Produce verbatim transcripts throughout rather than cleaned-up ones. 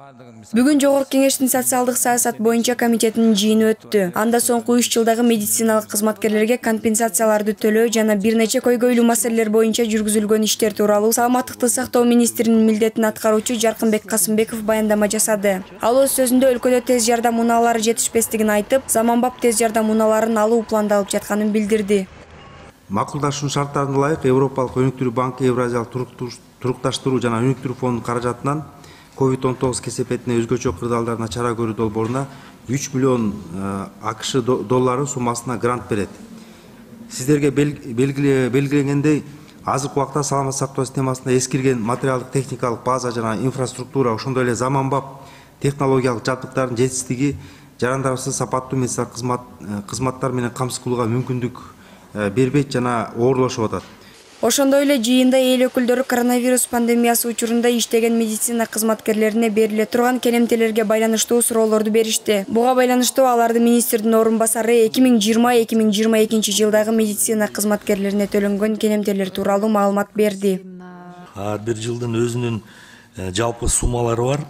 Бүгүн Жогорку Кеңештин социалдык саясат боюнча комитетинин жыйыны өттү. Анда соңку үч жылдагы медициналык кызматкерлерге компенсацияларды төлөө жана бир нече көйгөйлүү маселелер боюнча жүргүзүлгөн иштер тууралуу саламаттыкты сактоо министринин милдетин аткаруучу Жаркынбек Касымбеков баяндама жасады. Ал өз сөзүндө өлкөдө тез жардам унаалары жетишпестигин айтып, заманбап тез жардам унааларын алуу пландалып жатканын билдирди. Макулдашуу шарттарына ылайык Европалык өнүктүрүү банкы Евразиялык турукташтыруу жана өнүктүрүү фондунун каражатынан ковид он тогуз кесепетине өзгөчө кырдаалдарына чара көрүү долбооруна үч миллион АКШ доллары суммасына грант берет. Сиздерге белгиленгендей, азыркы убакта саламаттык сактоо системасында эскирген материалдык техникалык база жана инфраструктура, ошондой эле заманбап технологиялык жабдыктардын жетишсиздиги жарандарыбызды сапаттуу медициналык кызматтар менен камсыз кылууга мүмкүндүк бербейт жана оорлошуп атат. Ошондой эле жыйында эл өкүлдөрү коронавирус пандемиясы учурунда иштеген медицина кызматкерлерине бериле турган келемтелерге байланыштуу суроолорду беришти. Буга байланыштуу аларды министрдин орун басары эки миң жыйырма эки миң жыйырма экинчи жылдагы медицина кызматкерлерине төлөнгөн келемтелер тууралуу маалымат берди. Ар бир жылдын өзүнүн жалпы суммалары бар.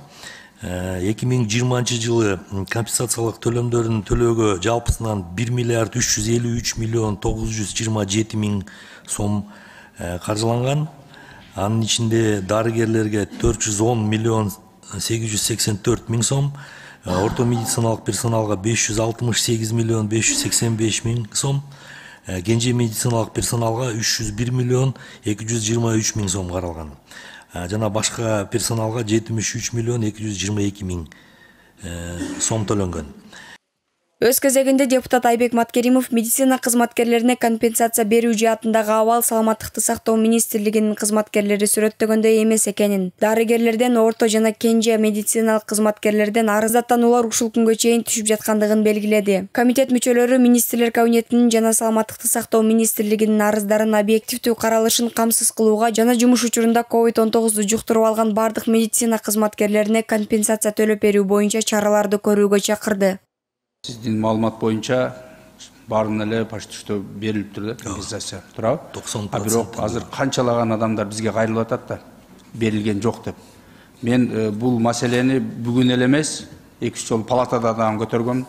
эки миң жыйырманчы жылы компенсациялык төлөмдөрүн төлөөгө жалпысынан бир миллиард үч жүз элүү үч миллион тогуз жүз жыйырма жети миң сом каржыланган. Анын ичинде дарыгерлерге төрт жүз он миллион сегиз жүз сексен төрт миң сом, орто медициналык персоналга беш жүз алтымыш сегиз миллион беш жүз сексен беш миң сом, кенже медициналык персоналга үч жүз бир миллион эки жүз жыйырма үч миң сом каралган. Жана башка персоналга жетимиш үч миллион эки жүз жыйырма эки миң сом төлөнгөн. Өз кезегинде депутат Айбек Маткеримов медицина кызматкерлерине компенсация берүү жаатындагы абал саламаттыкты сактоо министрлигинин кызматкерлери сүрөттөгөндөй эмес экенин, дарыгерлерден, орто жана кенже медициналык кызматкерлерден арыздаттануулар ушул күнгө чейин түшүп жаткандыгын белгиледи. Комитет мүчөлөрү министрлер кабинетинин жана саламаттыкты сактоо министрлигинин арыздарын объективдүү каралышын камсыз кылууга жана жумуш учурунда ковид он тогузду жуктуруп алган бардык медицина кызматкерлерине компенсация төлөп берүү боюнча чараларды көрүүгө чакырды. Сиздин маалымат боюнча баарын эле почти что берилиптир да, компенсация туурабы? токсон процент. А бирок азыр канчалаган адамдар бизге кайрылып атат да, берилген жок деп. Мен бул маселени бүгүн эле эмес, эки үч жолу палатада дагы көтөргөм.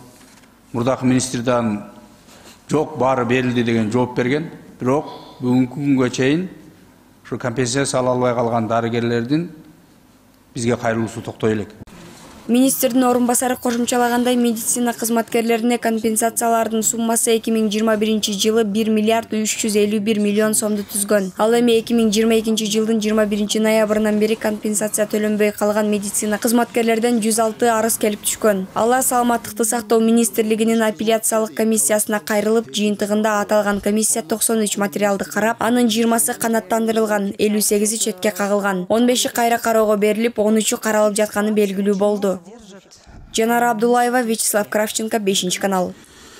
Мурдакы министрден жок, баары берилди деген жооп берген. Бирок бүгүнкү күнгө чейин ушу компенсация ала албай калган дарыгерлердин бизге кайрылуусу токтой элек. Министрдин орун басары кошумчалагандай, медицина кызматкерлерине компенсациялардын суммасы эки миң жыйырма биринчи жылы бир миллиард үч жүз элүү бир миллион сомду түзгөн. Ал эми эки миң жыйырма экинчи жылдын жыйырма биринчи ноябрынан бери компенсация төлөнбөй калган медицина кызматкерлерден жүз алты арыз келип түшкөн. Алар саламаттыкты сактоо министрлигинин апелляциялык комиссиясына кайрылып, жыйынтыгында аталган комиссия токсон үч материалды карап, анын жыйырмасы канааттандырылган, элүү сегизи четке кагылган, он беши кайра кароого берилип, он үчү каралып жатканы белгилүү болду. Жанара Абдуллаева, Вячеслав Кравченко, бешинчи канал.